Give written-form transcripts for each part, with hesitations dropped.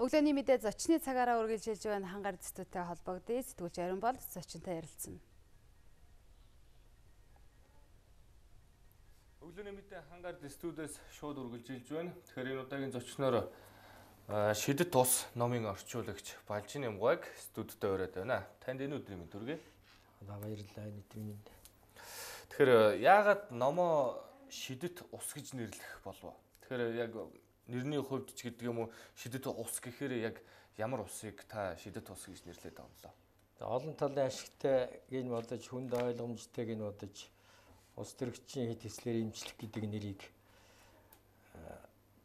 Өглөөний мэдээ зочны цагаараа үргэлжилж байна хангаар дэстүүтэй холбогдъё. Сэтгүүлч Ариун бол зочинтой ярилцсан. Өглөөний мэдээ хангаар дэстүүдээс шууд үргэлжилж байна. Тэгэхээр энэ удаагийн зочноор шидэт тус номын орчуулагч Балжин Ямгайг студидтэй ураад байна. Танд энэ өдрийн мэнд хүргэе. Баярлалаа энэ өдрийн мэнд. Тэгэхээр яагаад номоо шидэт ус гэж нэрлэх болов? Тэгэхээр яг нэрний хувьд ч гэдэг юм уу шидэт ус гэхээр яг ямар усыг та шидэт ус гэж нэрлэдэг юм лөө? Олон талын ашигтай гэж бодож хүнд ойлгомжтой гэж бодож ус төрөгчийн хэд хэслэр эмчлэх гэдэг нэрийг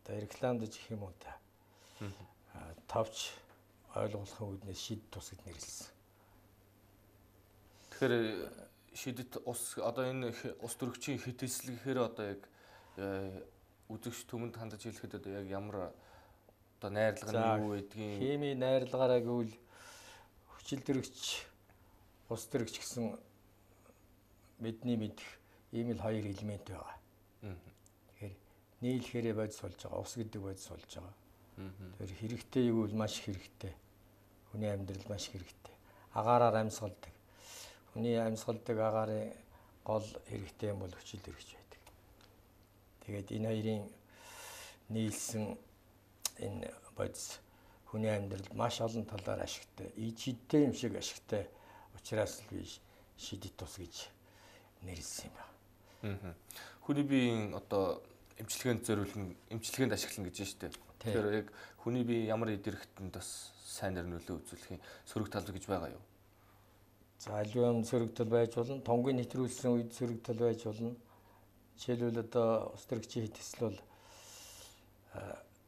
рекламдж их юм уу та. Товч ойлгуулахын үүднээс шидэт ус гэж нэрлсэн. Тэгэхээр шидэт ус одоо энэ ус төрөгчийн хэд хэсэл гэхээр одоо яг үзэгч түмэнд хандаж хэлэхэд одоо яг ямар одоо найрлага нь юу гэдгийг хими найрлагаараа гэвэл хүчил төрөгч ус төрөгч гэсэн бидний мэдэх ийм л хоёр элемент байгаа. Тэгэхээр нийлхээрээ бодис болж байгаа, ус гэдэг бодис болж байгаа. Тэр хэрэгтэй юу бол маш хэрэгтэй. Хүний амьдрал маш хэрэгтэй. Агаараар амьсгалдаг. Хүний амьсгалдаг агаарын гол хэрэгтэй юм бол хүчил төрөгч байдаг. Тэгээд энэ хоёрын нийлсэн энэ бодис хүний амьдралд маш олон талаар ашигтай, ичидтэй юм шиг ашигтай учраас л би шидэт ус гэж нэрлсэн юм байна. Хүний биеийн одоо эмчилгээнд зориулсан, эмчилгээнд ашиглана гэж байна шүү дээ. Тэгэхээр яг хүний бие ямар идэрхтэнд бас сайн нөлөө үзүүлэх сөрөг тал гэж байгаа юу? За аливаа сөрөг тал байж болно, тонгийн нэвтрүүлсэн үед сөрөг тал байж болно. Жишээлбэл одоо ус төрөгчийн хэд хэсэл бол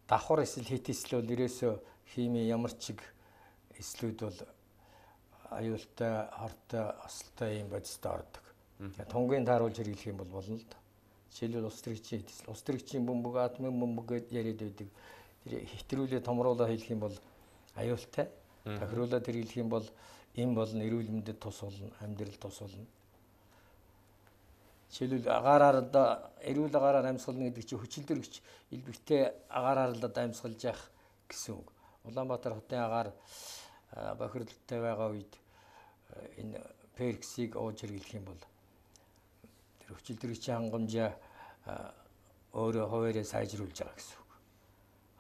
давхар эсвэл хэд хэсэл бол ерөөсөө хими ямар ч эслүүд бол аюултай, хортой, осолтой юм бодистой ордог. Тонгийн тааруулж хэрэглэх юм бол болно л доо. Жишээлбэл ус төрөгчийн хэд хэсэл, ус төрөгчийн бөмбөг, атомын бөмбөг гэдээ яриад байдаг. Тэр хэтрүүлээ томруулаад хэлэх юм бол аюултай. Тохируулаад хэрэглэх юм бол эм болно, эрүүл мэндэд тус болно, амьдрал тус болно. Жишээлбэл агаараар эрүүл агаараар амьсгална гэдэг чинь хүчил төрөгч элбэгтэй агаараар л амьсгалж явах гэсэн үг. Улаанбаатар хотын агаар бохирдолтой байгаа үед энэ перксийг ууж хэрэглэх юм бол тэр хүчил төрөгчийн хангамжаа өөрөө хуваараа сайжруулж байгаа гэсэн үг.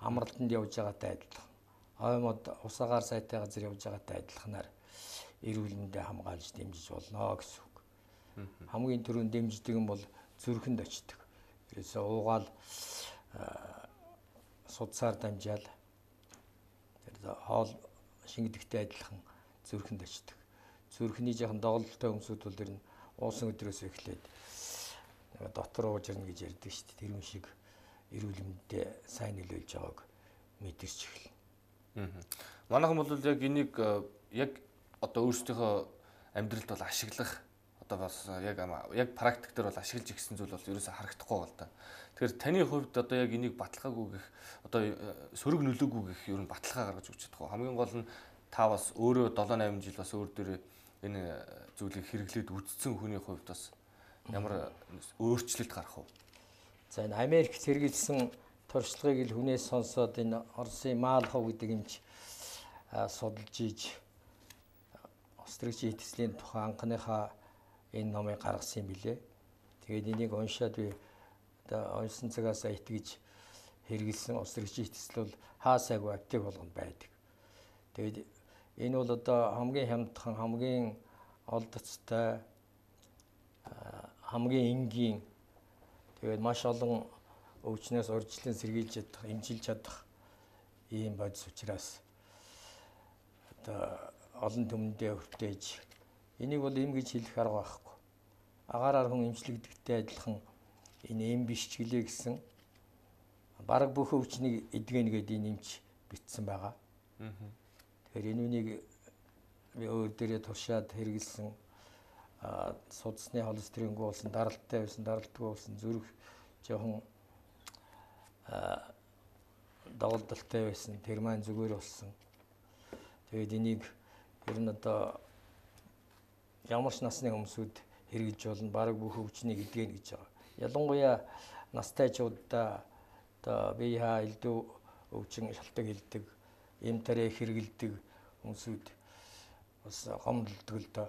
Амралтанд явж байгаатай адилхан. Оймод ус агаар сайтай газар явж байгаатай адилханаар эрүүл мэндэ хамгаалж дэмжиж болно гэсэн үг. Хамгийн түрүүнд дэмждэг юм бол зүрхэнд очдог. Ерөөсөө уугаал судсаар дамжаал тэр хоол шингэдэгтэй адилхан зүрхэнд очдог. Зүрхний жоохон доголдолтой өмсүүд бол тэр нь уусан өдрөөс эхлээд дотор ууж ирнэ гэж ярьдаг шүү дээ. Тэр юм шиг эрүүл мэндэд сайн нөлөөлж байгааг мэдэрч эхэлнэ. Манайхан бол яг энийг яг одоо өөрсдийнхөө амьдралд бол ашиглах одоо бас яг практик дээр бол ашиглаж ирсэн зүйл бол ерөөсө харагдахгүй байна л да. Тэгэхээр таны хувьд одоо яг энийг баталгаагүй гэх одоо сөрөг нөлөөгүй гэх ер нь баталгаа гаргаж өгч чадах. Хамгийн гол нь та бас өөрөө 7-8 жил бас өөр дөрөө энэ зүйлийг хэрэглээд үдцсэн хүний хувьд бас ямар өөрчлөлт гарах вэ? За энэ Америкт хэрэгжилсэн туршлагыг л хүнээс сонсоод энэ Оросын Маалхов гэдэг эмч судалж ийж ус төрөгчийн хэд хэслийн тухай анхныхаа энэ номыг гаргасан юм билээ. Тэгээд энийг уншаад би одоо уншсан цагаас итгэж хэрэгэлсэн ус төрөгчийн хэд хэсэл бол хаасаагүй аптек болгонд байдаг. Тэгээд энэ бол одоо хамгийн хямдхан, хамгийн олдоцтой, хамгийн энгийн тэгээд маш олон өвчнөөс урьдчилан сэргийлж чадах, эмчилж чадах ийм бодис учраас одоо олон түмэндээ хүртээж энийг бол эм гэж хэлэх арга байхгүй. Агаараар хүн эмчлэгдэгтэй адилхан энэ эм биш ч гэлээ гэсэн бараг бүх өвчнийг эдгэнэ гэдэг энэ эмч бичсэн байгаа. Тэгэхээр энэ үнийг би өөр дээрээ туршаад хэрэгэлсэн судасны холестерингүй болсон, даралттай байсан, даралтгүй болсон, зүрх жоохон доголдолтой байсан, тэр маань зүгээр болсон. Тэгээд энийг ер нь одоо ямар ч насны хүмүүсүүд хэрэгжилж болно, бараг бүх өвчнийг эдгэнэ гэж байгаа. Ялангуяа настайчуудаа одоо бие хаа элдв өвчин шалтгаан хэлдэг эм тарэ хэрэгэлдэг хүмүүсүүд бас гомдлдог л доо.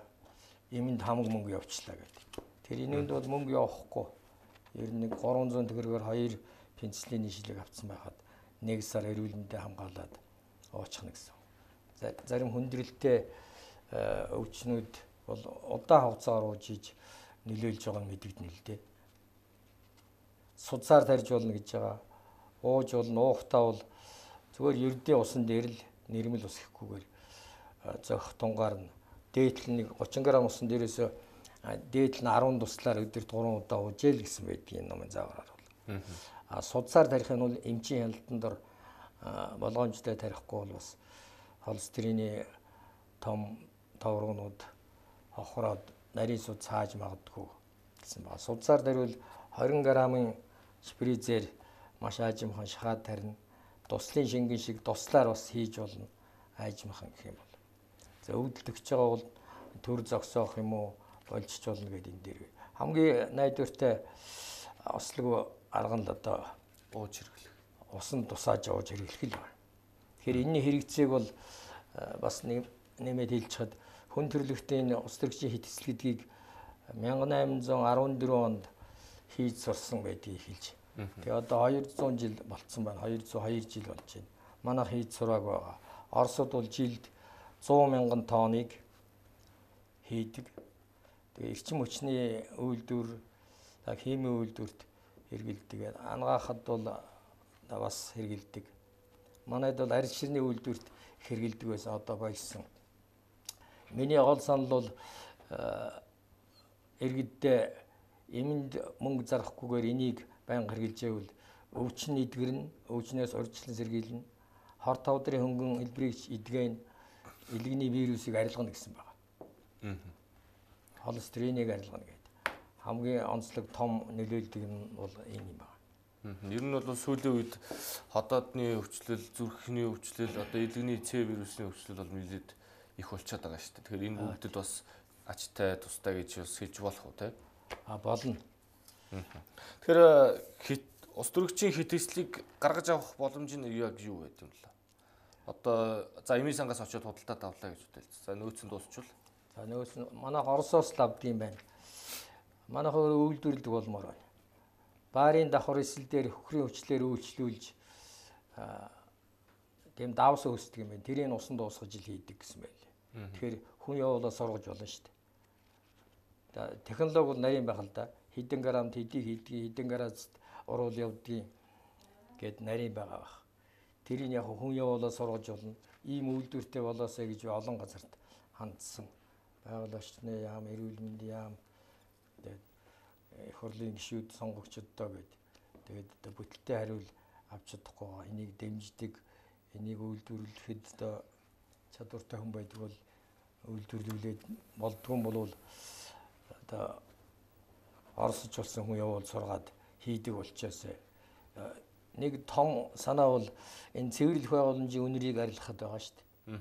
Эмэнд хамаг мөнгө явуулчлаа гэдэг. Тэр энэнд бол мөнгө явахгүй. Ер нь 300 төгрөгөөр 2 пенсилийн шилэг авсан байхад 1 сар эрүүл мэндэд хамгаалаад уучихна гэсэн. Зарим хүндрэлтэй өвчнүүд бол удаан хугацаагаар уужиж нөлөөлж байгааг нь мэдэгдэнэ л дээ. Судсаар тарьж болно гэж байгаа. Ууж болно, уухтаа бол зүгээр ердийн усан дээр л нэрмэл ус ихэхгүйгээр зөх тунгаар нь дээдл нэг 30 г усан дээрээс дээдл нь 10 туслаар өдөрт 3 удаа уужээл гэсэн байдгийн номын заавараар бол. Судсаар тарих нь бол эмчийн хяналтанд дор болгоомжтой тарихгүй бол бас холестерины том товрогнууд хохроод нарийн суд цааж магадгүй гэсэн байна. Судсаар дарвал 20 г-ын шприцээр маш аажимхан шахаад тарина. Туслын шингэн шиг туслаар бас хийж болно. Аажимхан гэх юм бол. За өвдөлтөгч байгаа бол төр зогсоох юм уу болжч болно гэдэг энэ дээр. Хамгийн найдвартай ослог арга нь л одоо ууж хэрэглэх. Усан тусааж ууж хэрэглэх л байна. Тэгэхээр энэний хэрэгцээг бол бас нэмээд хэлж чад хүн төрөлхтийн ус төрөгчийн хэтсэл гэдгийг 1814 онд хийж сурсан байдгийг хэлж. Тэгээ одоо 200 жил болцсон байна. 202 жил болж байна. Манайх хийж сураагүй байгаа. Оросууд бол жилд 100 мянган тонныг хийдэг. Тэгээ эрчим хүчний үйлдвэр, химийн үйлдвэрт хэрэгэлдэг. Ангаахад бол бас хэрэгэлдэг. Манайд бол арьс ширний үйлдвэрт хэрэгэлдэг байсан. Одоо болсон. Миний гол санал бол иргэддээ эмэнд мөнгө зарахгүйгээр энийг байнга хэрэгжилж байвал өвчин идгэрнэ, өвчнөөс урьдчилан сэргийлнэ. Хор тавдрын хөнгөн элбэрийг идгэн илгэний вирусыг арилгана гэсэн байна. Холестериныг арилгана гэдэг. Хамгийн онцлог том нөлөөлдөг нь бол энэ юм байна. Ер нь бол сүүлийн үед ходоодны өвчлөл, зүрхний өвчлөл, одоо илгэний С вирусны өвчлөл бол нэлээд их болчиход байгаа шүү дээ. Тэгэхээр энэ бүгдэд бас ачтай тустай гэж бас хэлж болох уу те? Болно. Тэгэхээр ус төрөгчийн хэтээслийг гаргаж авах боломж нь яг юу байд юм бэ? Одоо за эмийн сангаас очиод худалдаад авлаа гэж үтэл. За нөөц нь дуусчвал. За нөөц нь манайх Оросоос л авд юм байна. Манайх өөрөө үйлдвэрлэдэг болмоор байна. Баарын давхар эсэл дээр хөхрийн өвчлөөр үйлчлүүлж тийм давс өсдөг юм байна. Тэрийг усан дуусгаж ил хийдэг гэсэн байлээ. Тэгэхээр хүн явуулаа сургаж болно шүү дээ. Технологи бол нарийн байх л да. Хэдэн грамм тэдийг хийдгийг, хэдэн градуст уруул явдгийг гэд нарийн байгаа бах. Тэрийг яг хүн явуулаа сургаж болно. Ийм үйлдвэртэй болоосаа гэж олон газарт хандсан. Байгаль орчны яам, эрүүл мэндийн яам, их хурлын гишүүд, сонгогчдоо гэд. Тэгээд одоо бүтэлтэй хариул авч чадахгүй байгаа. Энийг дэмждэг, энийг үйлдвэрлэхэд одоо чадвартай хүн байдаг бол үйлдвэрлүүлээд болдгүй юм бол одоо оросч болсон хүн явуул сургаад хийдэг болчоос нэг том санаа бол энэ цэвэрлэх байгууламжийн үнэрийг арилгахад байгаа шүү дээ.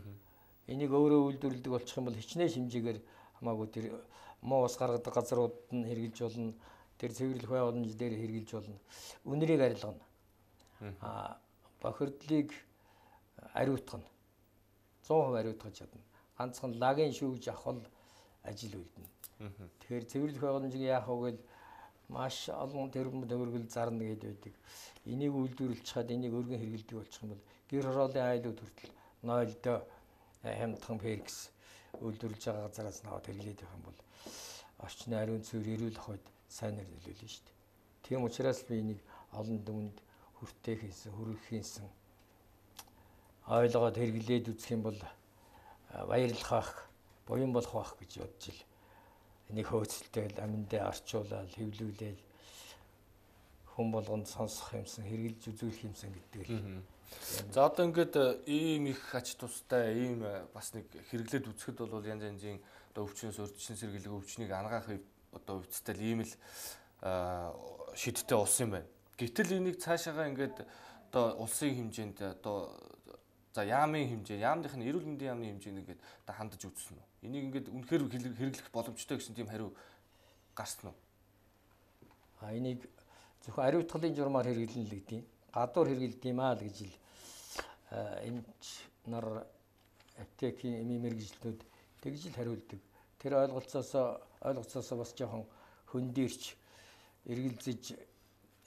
Энийг өөрөө үйлдвэрлэдэг болчих юм бол хичнээн хэмжээгээр хамаагүй тэр муу ус гаргадаг газрууд нь хэрэгжилж болно. Тэр цэвэрлэх байгууламж дээр хэрэгжилж болно. Үнэрийг арилгана. Бохирдлыг ариутгана. 100% ариутгаж чадна. Ганцхан лагийн шүүгж авах ажил үлдэнэ. Тэгэхээр цэвэрлэх байгууламжийг яах вэ гэвэл маш олон тэрбум төгрөгөл зарна гэдэг байдаг. Энийг үйлдвэрлэж чад энийг өргөн хэрэгэлдэг болчих юм бол гэр хорооллын айлууд хүртэл 0 хямдхан перкс үйлдвэрлэж байгаа газараас наваад хэрэглээд байх юм бол орчны ариун цэвэр эрүүл ахуйд сайнаар нөлөөлнө шүү дээ. Тийм учраас би энийг олон дүнд хүртээх хийсэн, хүргэх хийсэн ойлгоод хэрэглээд үзэх юм бол баярлах байх, буян болох байх гэж бодож ил. Энийг хөөцөлтөөл, аминдаа орчуулаад, хэвлүүлээд хүн болгонд сонсох юмсан, хэрэгжилж үзүүлэх юмсан гэдэг л. За одоо ингээд ийм их ач тустай, ийм бас нэг хэрэглээд үзэхэд бол янз янзын одоо өвчнөөс урьдчилан сэргийлэх өвчнийг ангаах одоо өвцтэй ийм л шидтэй улс юм байна. Гэтэл энийг цаашаага ингээд одоо улсын хэмжээнд одоо за яамын хэмжээ, яамныхны эрүүл мэндийн яамны хэмжээнд ингээд одоо хандаж үзсэн үү? Энийг ингээд үнэхээр хэрэглэх боломжтой гэсэн тийм хариу гарсан уу? Энийг зөвхөн ариутгалын журмаар хэрэглэнэ л гэдэг. Гадуур хэрэглэдэг юм аа л гэж ил эмч нар аптекийн эмийн мэрэгжилтнүүд тэгж л хариулдаг. Тэр ойлголцоосоо бас жоохон хөндөрч эргэлзэж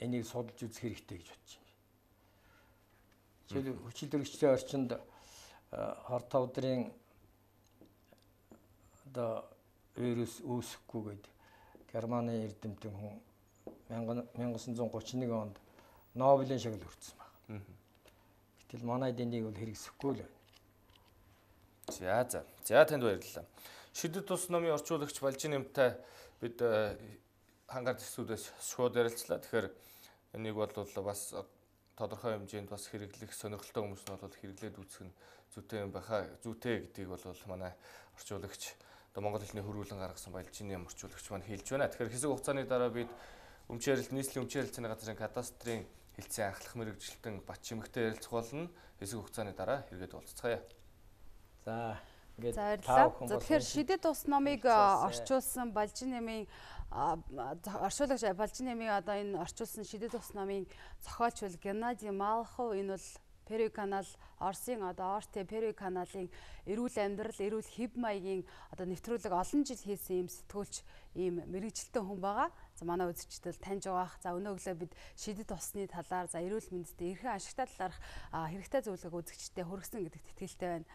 энийг судалж үзэх хэрэгтэй гэж бодож байна. Жишээл хүчил төрөгчтэй орчинд хор тавдрын одоо вирус үүсэхгүйгээд Германы эрдэмтэн хүн 1931 онд Нобелийн шагнал хүртсэн байна. Гэтэл манайд энийг бол хэрэгсэхгүй л байна. За танд баярлалаа. Шидэт тус номын орчуулагч Балжин нэмтай бид хангаар төсвүүдээс шууд ярилцлаа. Тэгэхээр энийг бол бас тодорхой хэмжээнд бас хэрэглэх сонирхолтой хүмүүс нь бол хэрэглээд үзэх нь зүйтэй юм байхаа. Зүйтэй гэдгийг бол манай орчуулагч одоо Монгол хэлний хөрвүүлэн гаргасан Балжины орчуулагч маань хэлж байна. Тэгэхээр хэсэг хугацааны дараа бид нийслэлийн өмчийн харилцааны газрын кадастрын хэлтсийн анхлах мэрэгжилтэн Батчимэгтэй ярилцах болно. Хэсэг хугацааны дараа хэрэгэд уулзцгаая. За баярлалаа. Тэгэхээр шидэт ус номыг орчуулсан Балжин нэмийн орчуулагч Балжин нэмийн одоо энэ орчуулсан шидэт ус номын зохиолч бол Геннадий Малхов. Энэ бол Перуй канал, Оросын одоо Орте Перуй каналын эрүүл амьдрал, эрүүл хэв маягийн одоо нэвтрүүлэг олон жил хийсэн юм сэтгүүлч, ийм мэрэгжилтэн хүн байгаа. За манай үзэгчдэл таньж байгаах. За өнөө өглөө бид шидэт усны талаар, за эрүүл мэндэд эрхэн ашигтай талаарх хэрэгтэй зөвлөгөө үзэгчдэд хүргэсэн гэдэгт итгэлтэй байна.